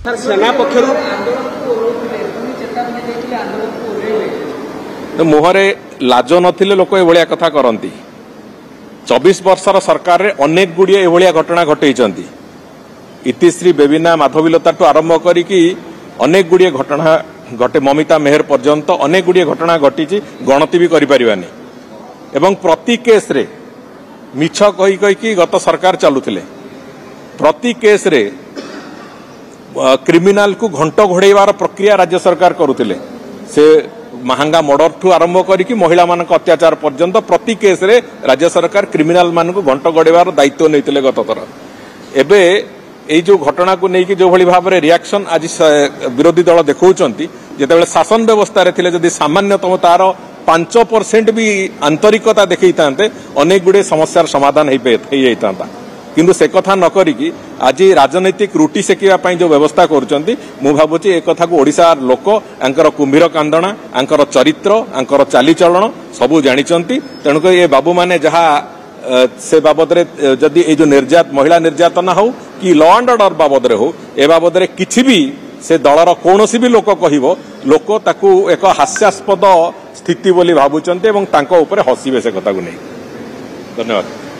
ସେନା ପକ୍ଷରୁ ମୁହଁରେ ଲାଜ ନଥିଲେ ଲୋକ ଏଭଳିଆ କଥା କରନ୍ତି। 24 ବର୍ଷର ସରକାରରେ ଅନେକ ଗୁଡ଼ିଏ ଏଭଳିଆ ଘଟଣା ଘଟେଇଛନ୍ତି। ଇତିଶ୍ରୀ, ବେବିନା, ମାଧବୀଲତାଠୁ ଆରମ୍ଭ କରିକି ଅନେକ ଗୁଡ଼ିଏ ଘଟଣା ଘଟେ, ମମିତା ମେହେର ପର୍ଯ୍ୟନ୍ତ ଅନେକ ଗୁଡ଼ିଏ ଘଟଣା ଘଟିଛି, ଗଣତି ବି କରିପାରିବାନି। ଏବଂ ପ୍ରତି କେସ୍ରେ ମିଛ କହି କହିକି ଗତ ସରକାର ଚାଲୁଥିଲେ। ପ୍ରତି କେସ୍ରେ କ୍ରିମିନାଲକୁ ଘଣ୍ଟ ଘୋଡ଼େଇବାର ପ୍ରକ୍ରିୟା ରାଜ୍ୟ ସରକାର କରୁଥିଲେ। ସେ ମାହାଙ୍ଗା ମର୍ଡରଠୁ ଆରମ୍ଭ କରିକି ମହିଳାମାନଙ୍କ ଅତ୍ୟାଚାର ପର୍ଯ୍ୟନ୍ତ ପ୍ରତି କେସ୍ରେ ରାଜ୍ୟ ସରକାର କ୍ରିମିନାଲମାନଙ୍କୁ ଘଣ୍ଟ ଘୋଡ଼େଇବାର ଦାୟିତ୍ୱ ନେଇଥିଲେ ଗତଥର। ଏବେ ଏଇ ଯେଉଁ ଘଟଣାକୁ ନେଇକି ଯେଉଁଭଳି ଭାବରେ ରିଆକ୍ସନ୍ ଆଜି ବିରୋଧୀ ଦଳ ଦେଖାଉଛନ୍ତି, ଯେତେବେଳେ ଶାସନ ବ୍ୟବସ୍ଥାରେ ଥିଲେ ଯଦି ସାମାନ୍ୟତମ ତାର 5% ବି ଆନ୍ତରିକତା ଦେଖେଇଥାନ୍ତେ, ଅନେକ ଗୁଡ଼ିଏ ସମସ୍ୟାର ସମାଧାନ ହେଇଯାଇଥାନ୍ତା। କିନ୍ତୁ ସେ କଥା ନ କରିକି ଆଜି ରାଜନୈତିକ ରୁଟି ସେକିବା ପାଇଁ ଯେଉଁ ବ୍ୟବସ୍ଥା କରୁଛନ୍ତି, ମୁଁ ଭାବୁଛି ଏ କଥାକୁ ଓଡ଼ିଶାର ଲୋକ ଆଙ୍କର କୁମ୍ଭୀର କାନ୍ଦଣା, ଆଙ୍କର ଚରିତ୍ର, ଆଙ୍କର ଚାଲିଚଳଣ ସବୁ ଜାଣିଛନ୍ତି। ତେଣୁକରି ଏ ବାବୁମାନେ ଯାହା ସେ ବାବଦରେ ଯଦି ଏଇ ଯେଉଁ ମହିଳା ନିର୍ଯାତନା ହଉ କି ଲ ଆଣ୍ଡ ଅର୍ଡର ବାବଦରେ ହଉ, ଏ ବାବଦରେ କିଛି ବି ସେ ଦଳର କୌଣସି ବି ଲୋକ କହିବ, ଲୋକ ତାକୁ ଏକ ହାସ୍ୟାସ୍ପଦ ସ୍ଥିତି ବୋଲି ଭାବୁଛନ୍ତି ଏବଂ ତାଙ୍କ ଉପରେ ହସିବେ ସେ କଥାକୁ ନେଇ। ଧନ୍ୟବାଦ।